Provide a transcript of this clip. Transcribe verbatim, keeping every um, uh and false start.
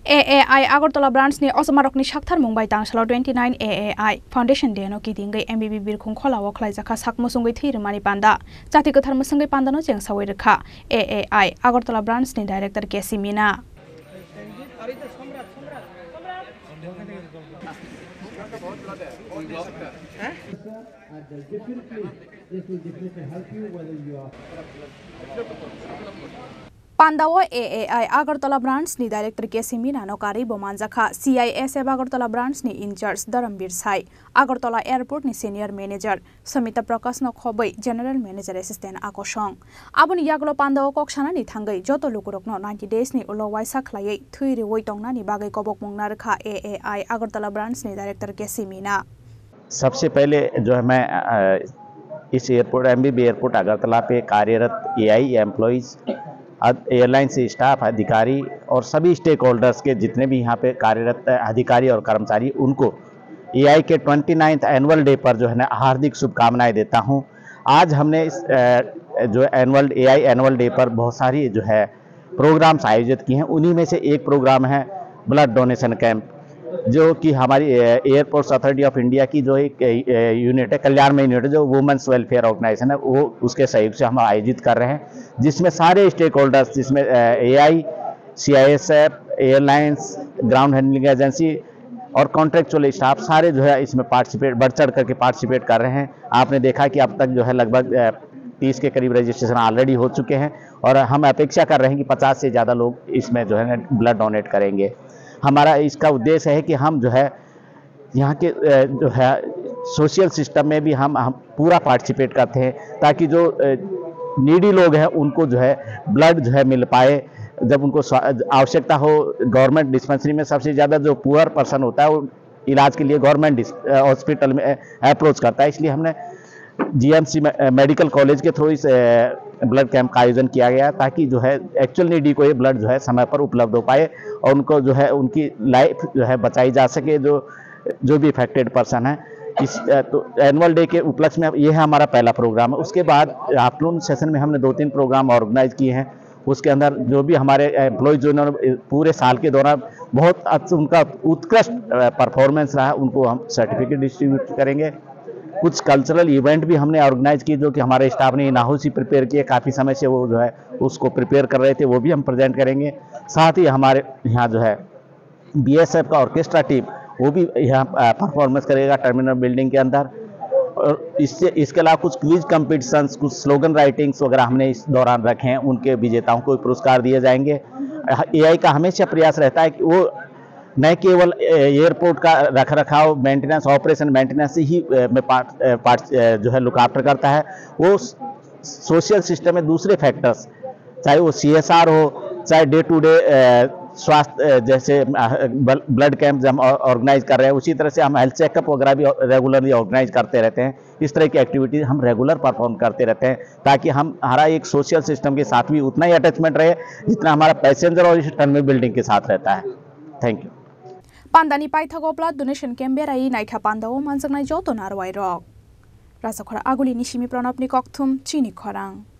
A A I Agartala branch ni osomarokni sakthar mung bai tangsalo twenty nine A A I Foundation Day no kitingwi M B B Birkhung Khola o khlaijak kha sak musungwi thwi rwmani panda. Chati kwthar musungwi panda no chengsawi rwkha A A I Agartala branch ni director K C Mina. Panda o A A I Agartala branch ni director K C Mina no karwi bo manjakha C I S F Agartala branch ni in charge Dharambir Sai, Agartala airport ni senior manager Samita Prakash no khobwi general manager assistant akosong. Aboni yagulo panda o kok sanani thangwi joto lukurok no ninety days ni ulo waisa khlaiwi thwi rwwi tongnani bagwi kobokmung narwkha A A I Agartala branch ni director K C Mina. सबसे पहले जो है मैं, अ, इस airport, MBB airport Agartala पे कार्यरत AI employees, अद-, एयरलाइन से स्टाफ, अधिकारी और सभी स्टेक होल्डर्स के जितने भी यहाँ पे कार्यरत अधिकारी और कर्मचारी, उनको एआई के ट्वेंटी नाइन्थ एनुअल डे पर जो है ना, हार्दिक शुभकामनाएं देता हूँ। आज हमने इस, अ, जो एनुअल, एआई एनुअल डे पर बहुत सारी जो है प्रोग्राम्स आयोजित किए हैं। उन्हीं में से एक प्रोग्राम है ब्लड डोनेशन कैंप, जो कि हमारी, अ, एयरपोर्ट्स अथॉरिटी ऑफ इंडिया की जो एक, अ, अ, यूनिट है, कल्याण में यूनिट है, जो वुमेन्स वेलफेयर ऑर्गेनाइजेशन है, वो उसके सहयोग से हम आयोजित कर रहे हैं, जिसमें सारे स्टेक होल्डर्स, जिसमें, uh, AI, CISF, airlines, ground handling agency और कॉन्ट्रेक्चुअल स्टाफ सारे जो है इसमें पार्टिसिपेट, बढ़ चढ़ करके पार्टिसिपेट कर रहे हैं। आपने देखा कि अब तक जो है लगभग, अ, तीस के करीब रजिस्ट्रेशन ऑलरेडी हो चुके हैं और हम अपेक्षा कर रहे हैं कि पचास से ज़्यादा लोग इसमें जो है ना ब्लड डोनेट करेंगे। हमारा इसका उद्देश्य है कि हम जो है यहाँ के, अ, जो है सोशल सिस्टम में भी हम, हम पूरा पार्टिसिपेट करते हैं, ताकि जो, अ, नीडी लोग हैं उनको जो है ब्लड जो है मिल पाए। जब उनको स्वा-, आवश्यकता हो, गवर्नमेंट डिस्पेंसरी में सबसे ज़्यादा जो पुअर पर्सन होता है वो इलाज के लिए गवर्नमेंट डिस-, अ, हॉस्पिटल में, अ, अप्रोच करता है। इसलिए हमने जीएमसी में, अ, मेडिकल कॉलेज के थ्रू इस, अ, ब्लड कैंप का आयोजन किया गया, ताकि जो है एक्चुअल नीडी को ये ब्लड जो है समय पर उपलब्ध हो पाए और उनको जो है उनकी लाइफ जो है बचाई जा सके, जो, जो भी अफेक्टेड पर्सन है। इस, अ, तो एनुअल डे के उपलक्ष्य में ये है हमारा पहला प्रोग्राम है। उसके बाद आफ्टरनून सेशन में हमने दो तीन प्रोग्राम ऑर्गेनाइज किए हैं। उसके अंदर जो भी हमारे एम्प्लॉयज जो उन्होंने पूरे साल के दौरान बहुत अच्छ-, उनका उत्कृष्ट, अ, परफॉर्मेंस रहा, उनको हम सर्टिफिकेट डिस्ट्रीब्यूट करेंगे। कुछ कल्चरल इवेंट भी हमने ऑर्गेनाइज किए, जो कि हमारे स्टाफ ने इन हाउस ही प्रिपेयर किए, काफ़ी समय से वो जो है उसको प्रिपेयर कर रहे थे, वो भी हम प्रेजेंट करेंगे। साथ ही हमारे यहाँ जो है बीएसएफ का ऑर्केस्ट्रा टीम, वो भी यहाँ, अ, परफॉर्मेंस करेगा टर्मिनल बिल्डिंग के अंदर। और इससे, इसके अलावा कुछ क्विज कॉम्पिटिशन्स, कुछ स्लोगन राइटिंग्स वगैरह हमने इस दौरान रखे हैं, उनके विजेताओं को पुरस्कार दिए जाएंगे। एआई का हमेशा प्रयास रहता है कि वो न केवल, अ, एयरपोर्ट का रख रखाव, मेंटेनेंस, ऑपरेशन मेंटेनेंस ही, अ, में पार्ट, अ, पार्ट, अ, जो है लुक आफ्टर करता है, वो सोशल सिस्टम में दूसरे फैक्टर्स, चाहे वो सीएसआर हो, चाहे डे टू डे, अ, स्वास्थ्य, अ, जैसे, अ, ब्ल-, ब्लड कैंप जो हम ऑ-, ऑर्गेनाइज कर रहे हैं, उसी तरह से हम हेल्थ चेकअप वगैरह भी रेगुलरली ऑर्गेनाइज करते रहते हैं। इस तरह की एक्टिविटीज हम रेगुलर परफॉर्म करते रहते हैं, ताकि हम, हमारा एक सोशल सिस्टम के साथ भी उतना ही अटैचमेंट रहे, जितना हमारा पैसेंजर और इस टर्मिनल बिल्डिंग के साथ रहता है। Thank you. Pandani paithago blood donation camp berai naikha panda o manjaknai joto narwai rok. Rajakhor Aguli ni simi Pranab ni kokthum chini khorang.